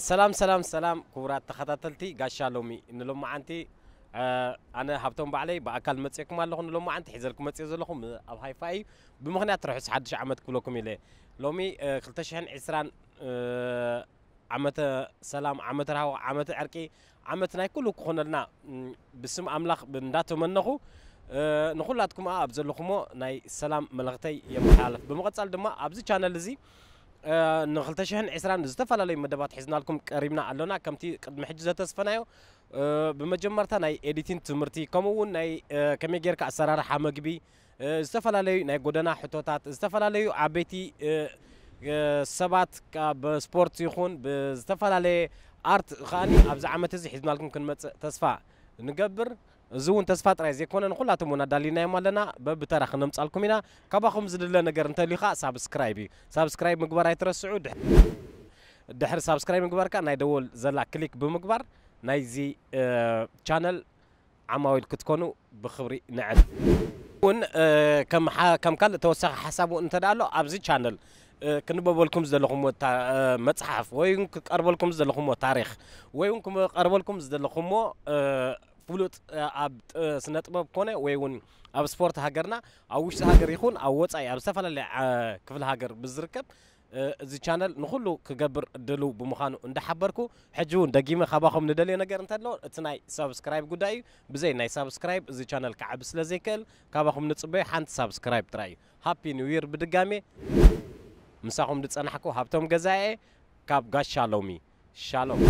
ሰላም ሰላም ሰላም፣ ክቡራት ተኸታተልቲ ጋሻ ሎሚ ንሎማዓንቲ፣ ኣነ ሃብቶም ባዕለይ ብኣካል መፅእኩም ኣለኹ። ንሎማዓንቲ ሒዘልኩም መፅእ ዘለኹም ኣብ ሃይፋ እዩ። ብምኽንያት ርሑስ ሓድሽ ዓመት ክብለኩም ኢለ። ሎሚ ክልተ ሽሕን ዕስራን ዓመተ ሰላም፣ ዓመተ ራህዋ፣ ዓመተ ዕርቂ፣ ዓመት ናይ ኩሉ ክኾነልና ብስም ኣምላኽ እንዳተመነኹ፣ ንኹላትኩም ኣብ ዘለኹሞ ናይ ሰላም መልእኽተይ የመሓላልፍ። ብምቕጻል ድማ ኣብዚ ቻነል እዚ ንክልተ ሽሕን ዕስራን ዝተፈላለዩ መደባት ሒዝናልኩም ቀሪብና ኣሎና። ከምቲ ቅድሚ ሕጂ ዘተስፈናዮ፣ ብመጀመርታ ናይ ኤዲቲንግ ትምህርቲ፣ ከምኡ እውን ናይ ከመይ ጌርካ ኣሰራርሓ መግቢ፣ ዝተፈላለዩ ናይ ጎደና ሕቶታት፣ ዝተፈላለዩ ዓበይቲ ሰባት ካብ ስፖርት ይኹን ብዝተፈላለየ ኣርት ከኣኒ ኣብዚ ዓመት እዚ ሒዝናልኩም ክንመጽእ ተስፋ ንገብር። እዚ እውን ተስፋ ጥራይ ዘይኮነ ንኹላቶም እውን ኣዳሊናዮም ኣለና። በብተራ ክነምጻልኩም ኢና። ካባኹም ዝድለ ነገር እንተልዩ ኸዓ ሳብስክራይብ እዩ። ሳብስክራይብ ምግባር ኣይትረስዑ። ድሕ-፣ ድሕሪ ሳብስክራይብ ምግባር ከኣ ናይ ደወል ዘላ ክሊክ ብምግባር ናይዚ ቻነል ዓማዊል ክትኮኑ ብኽብሪ ንዕድ። እውን ከም ካልእ ተወሳኺ ሓሳብ እውን እንተ ኣሎ ኣብዚ ቻነል ክንበበልኩም ዝደለኹምዎ መፅሓፍ ወይ ክቀርበልኩም ዝደለኹምዎ ታሪኽ ወይ እውን ክቀርበልኩም ዝደለኹምዎ ፍሉጥ ኣብ ስነ ጥበብ ኮነ ወይ እውን ኣብ ስፖርት ሃገርና ኣብ ውሽጢ ሃገር ይኹን ኣብ ወፃኢ ኣብ ዝተፈላለየ ክፍለ ሃገር ብዝርከብ እዚ ቻነል ንኹሉ ክገብር ድልው ብምዃኑ እንዳሓበርኩ፣ ሕጂ እውን ደጊመ ካባኹም ንደልዮ ነገር እንተሎ እቲ ናይ ሳብስክራይብ ጉዳይ እዩ። ብዘይ ናይ ሳብስክራይብ እዚ ቻነል ክዓቢ ስለ ዘይክእል ካባኹም ንጽበዮ ሓንቲ ሳብስክራይብ ጥራይ እዩ። ሃፒ ኒው ይር ብድጋሜ። ምሳኹም ዝጸናሕኩ ሃብቶም ገዛኤ ካብ ጋሻ ሎሚ። ሻሎም።